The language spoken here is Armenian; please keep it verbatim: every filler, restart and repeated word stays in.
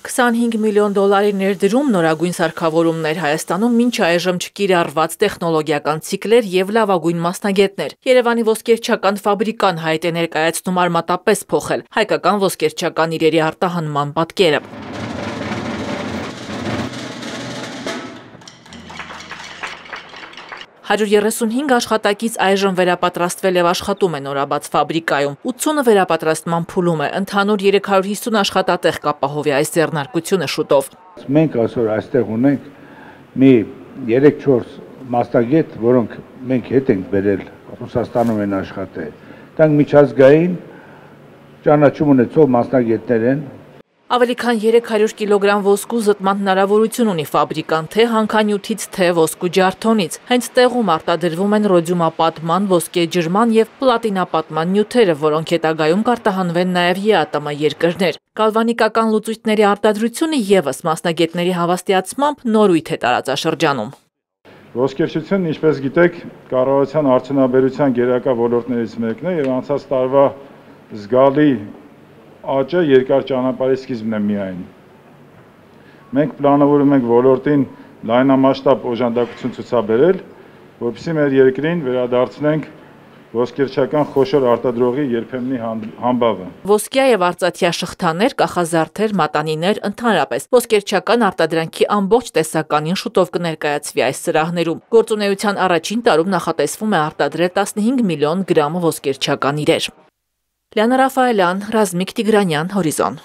քսանհինգ միլիոն դոլարի ներդրում, նորագույն սարքավորումներ, Հայաստանում մինչ այժմ չկիրառված տեխնոլոգիական ցիկլեր եւ լավագույն մասնագետներ։ Երևանի ոսկերչական ֆաբրիկան հայտ է ներկայացնում արմատապես փոխել հայկական ոսկերչական իրերի արտահանման պատկերը։ հարյուր երեսունհինգ աշխատակից այժմ վերապատրաստվել եւ աշխատում է նորաբաց ֆաբրիկայում, ութսունը վերապատրաստման փուլում է, ընդհանուր երեք հարյուր հիսուն աշխատատեղ կապահովի այս ձեռնարկությունը շուտով։ Մենք այսօր այստեղ ունենք մի երեք-չորս մասնագետ, որոնք մենք հետ ենք բերել Ռուսաստանում են աշխատել։ Դրանք միջազգային ճանաչում ունեցող մասնագետներ են։ Ավելի քան երեք հարյուր կիլոգրամ ոսկու զտման հնարավորություն ունի ֆաբրիկան թե հանքանյութից, թե ոսկու ջարդոնից։ Հենց տեղում արտադրվում են ռոդիումապատման, ոսկե ջրման եւ պլատինապատման նյութերը, որոնք հետագայում կարտահանվեն նաեւ ԵԱՏՄ երկրներ։ Գալվանիկական լուծույթների արտադրությունը եւս մասնագետների հավաստիացմամբ նորույթ է տարածաշրջանում։ Ոսկերչությունն, ինչպես գիտեք, կառավարության արդյունաբերության գերակա ոլորտներից մեկն է եւ անցած տարվա զգալի աճը երկար ճանապարհի սկիզբն է միայն։ Մենք պլանավորում ենք ոլորտին լայնամասշտաբ օժանդակություն ցուցաբերել, որպեսզի մեր երկրին վերադարձնենք ոսկերչական խոշոր արտադրողի երբեմնի համբավը։ Ոսկյա եւ արծաթյա շղթաներ, կախազարդեր, մատանիներ, ընդհանրապես ոսկերչական արտադրանքի ամբողջ տեսականին շուտով կներկայացվի այս սրահներում։ Գործունեության առաջին տարում նախատեսվում է արտադրել տասնհինգ միլիոն գրամ ոսկերչական իրեր։ Լիանա Ռաֆայելյան, Ռազմիկ Տիգրանյան, Հորիզոն։